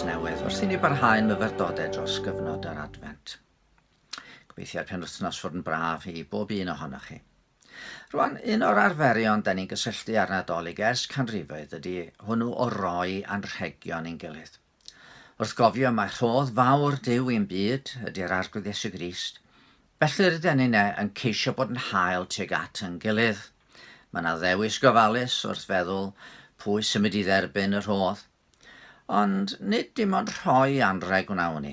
newydd wrth i ni barhau'n myfyrdodau dros gyfnod yr Adfent. Gobeithio'r penwythnos fod yn braf i bob un ohonoch chi. Rwan, un o'r arferion da ni'n gysylltu â'r Nadolig ers canrifoedd ydy hwnnw o roi anrhegion i'n gilydd. Wrth gofio mae rhodd fawr Duw i'n byd ydy'r Arglwydd Iesu Grist, felly rydyn ni'n yn ceisio bod yn hael tuag at yn gilydd. Mae yna ddewis gofalus wrth feddwl pwy sy'n mynd i dderbyn y rhodd. Ond nid dim ond rhoi anrheg wnawn ni.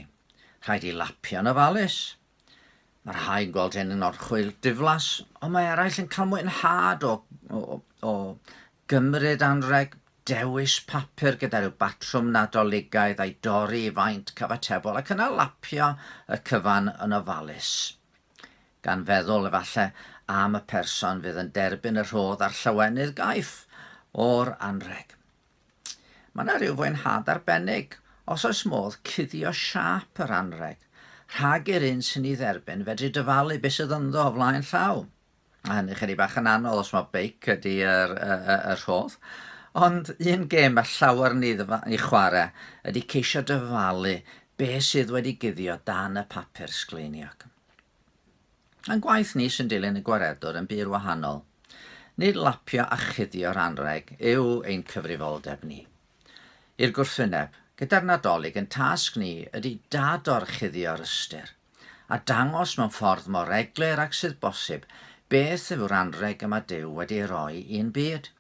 Rhaid i lapio'n ofalus. Mae rhai yn gweld hyn yn orchwyl diflas, ond mae eraill yn cael mwynhad o gymryd anrheg, dewis papur gyda rhyw batrwm Nadoligaidd a'i dorri i faint cyfatebol ac yna lapio y cyfan yn ofalus. Gan feddwl efallai am y person fydd yn derbyn y rhodd a'r llawenydd gaiff o'r anrheg. Mae yna rhyw fwynhad arbennig os oes modd cuddio siâp yr anrheg, rhag i'r un sy'n ei dderbyn fedru dyfalu beth sydd ynddo o flaen llaw. A hynny chydig bach yn anodd os mae beic ydy yr rhodd. Ond un gêm mae llawer ni i chwarae ydy ceisio dyfalu beth sydd wedi guddio dan y papur sgleiniog. A'n gwaith ni sy'n dilyn y gwaredwr yn bur wahanol. Nid lapio a chuddio'r anrheg yw ein cyfrifoldeb ni. I'r gwrthwyneb, gyda'r Nadolig yn tasg ni ydy dadorchuddio'r ystyr, a dangos mewn ffordd mor eglur ag sydd bosib beth yw'r anrheg y mae Duw wedi ei roi i'n byd.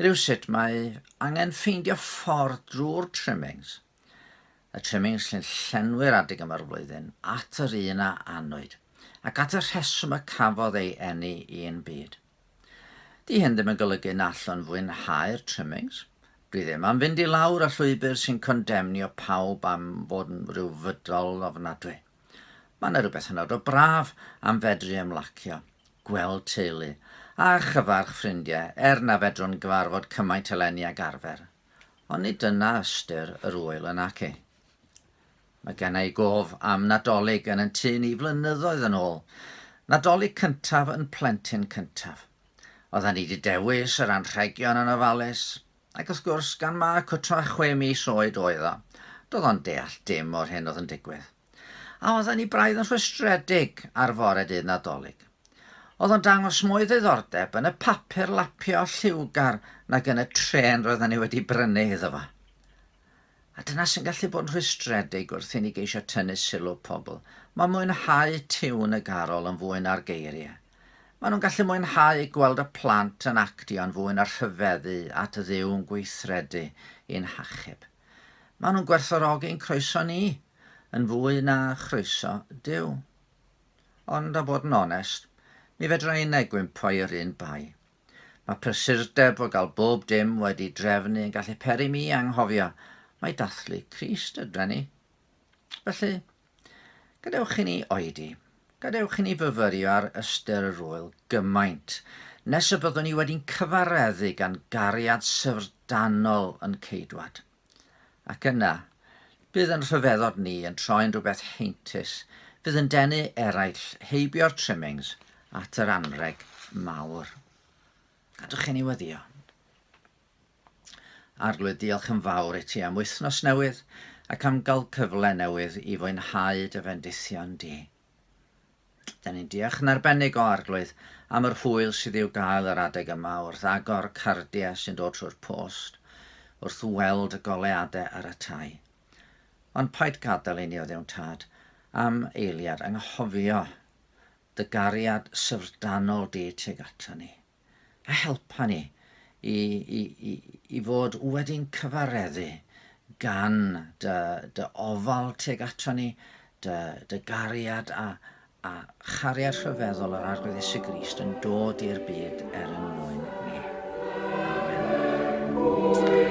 Rywsut mae angen ffeindio ffordd drwy'r trimmings, y trimmings sy'n llenwi'r adeg yma'r flwyddyn, at yr un a anwyd, ac at y rheswm y cafodd ei eni i'n byd. Di hyn ddim yn golygu na allwn fwynhau'r trimmings. Dwi ddim am fynd i lawr y llwybr sy'n condemnio pawb am fod yn rhyw fydol ofnadwy. Mae yna rhywbeth hynod o braf am fedru ymlacio, gweld teulu, a chyfarch ffrindiau, er na fedrwn gyfarfod cymaint eleni ag arfer. Ond nid dyna ystyr yr ŵyl yn naci. Mae genna i gof am Nadolig yn tŷ ni flynyddoedd yn ôl. Nadolig cyntaf yn plentyn cyntaf. Oedden ni wedi dewis yr anrhegion yn ofalus, ac wrth gwrs, gan ma cwtra 6 mis oed oedd o, doedd o'n deall dim o'r hyn oedd yn digwydd. A oedden ni braidd yn rhwystredig ar fore dydd Nadolig. Oedd o'n dangos mwy ddiddordeb yn y papur lapio lliwgar nag yn y trên roedden ni wedi brynu iddo fo. A dyna sy'n gallu bod yn rhwystredig wrth i ni geisio tynnu sylw pobl. Mae mwynhau tiwn y garol yn fwy na'r geiriau. Maen nhw'n gallu mwynhau gweld y plant yn actio'n fwy na rhyfeddu at y Dduw yn gweithredu i'n hachub. Maen nhw'n gwerthfawrogi'n croeso ni yn fwy na chroeso Duw. Ond a bod yn onest, mi fedra i gwympo i'r un bai. Mae prysurdeb o gael bob dim wedi drefnu yn gallu peri mi anghofio mae dathlu Crist ydyn ni. Felly, gadewch i ni oedi. Gadewch i ni fyfyrio ar ystyr yr ŵyl gymaint, nes y byddwn ni wedi'n cyfareddu gan gariad syfrdanol yn ceidwad. Ac yna, bydd yn rhyfeddod ni yn troi'n rhywbeth heintus, fydd yn denu eraill heibio'r trimmings at yr anrheg mawr. Gadewch i ni weddïo. Arglwydd, diolch yn fawr i ti am wythnos newydd ac am gael cyfle newydd i fwynhau dy fendithion di. Da ni'n diolch yn arbennig o Arglwydd am yr hwyl sydd i'w gael yr adeg yma wrth agor cardiau sy'n dod trwy'r post, wrth weld y goleuadau ar y tai. Ond paid gadael i ni o Dduw'n Tad am eiliad anghofio dy gariad syfrdanol di tuag ato ni. A helpa ni i fod wedi'n cyfareddu gan dy ofal tuag ato ni, dy gariad a chariad rhyfeddol yr Arglwydd Iesu Grist yn dod i'r byd er yn mwyn ni. Amen.